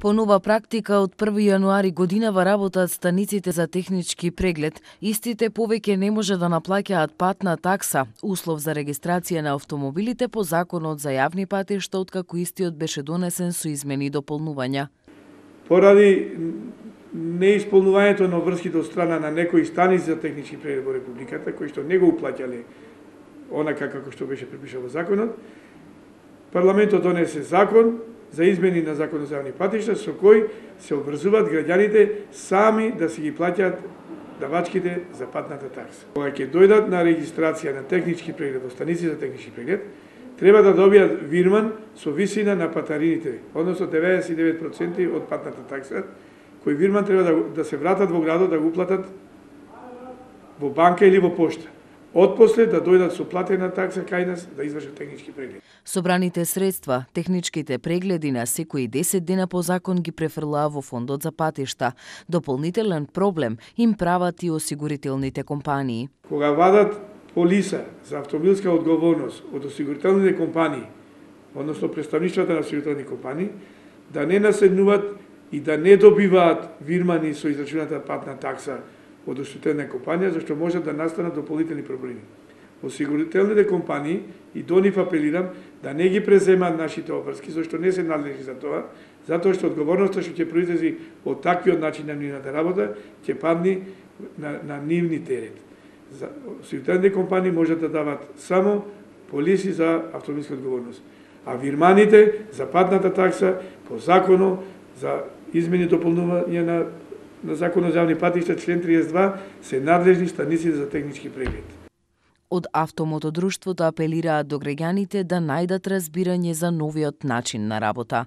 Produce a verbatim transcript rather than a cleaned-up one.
По нова практика од први јануари годинава работат станиците за технички преглед. Истите повеќе не може да наплаќаат патна такса, услов за регистрација на автомобилите по Законот за јавни патишта, откако истиот беше донесен со измени и дополнувања. Поради неисполнувањето на врските од страна на некои станици за технички преглед во Републиката, кои што не го уплаќале онака како што беше препишано во законот, парламентот донесе закон за измени на Законот за јавни патишта, со кој се обврзуваат граѓаните сами да си ги плаќаат давачките за патната такса. Кога ќе дојдат на регистрација на технички преглед во станици за технички преглед, треба да добијат вирман со висина на патарините, односно деветдесет и девет проценти од патната такса, кој вирман треба да, да се вратат во градот да го уплатат во банка или во пошта. Отпосле да дојдат со платена такса кај нас да извршат технички преглед. Собраните средства, техничките прегледи на секои десет дена по закон ги префрлаа во фондот за патишта. Дополнителен проблем им прават и осигурителните компании. Кога вадат полиса за автомобилска одговорност од осигурителните компании, односно представништвата на осигурителни компании, да не наседнуваат и да не добиваат вирмани со израчуната патна такса од оштетена компанија, зашто може да настанат дополнителни проблеми. Осигурителните компании, и до нив апелирам, да не ги преземаат нашите обврски, зашто не се надлежни за тоа, затоа што одговорноста што ќе произлези од таквиот начин на нивната работа, ќе падне на, на нивни терет. За осигурителните компании можат да дават само полиси за автомобилска одговорност, а вирманите за патната такса по законот за измени и дополнување на на Законот за јавни патишта член триесет и два се надлежни станици за технички преглед. Од автомотодружството апелираат до граѓаните да најдат разбирање за новиот начин на работа.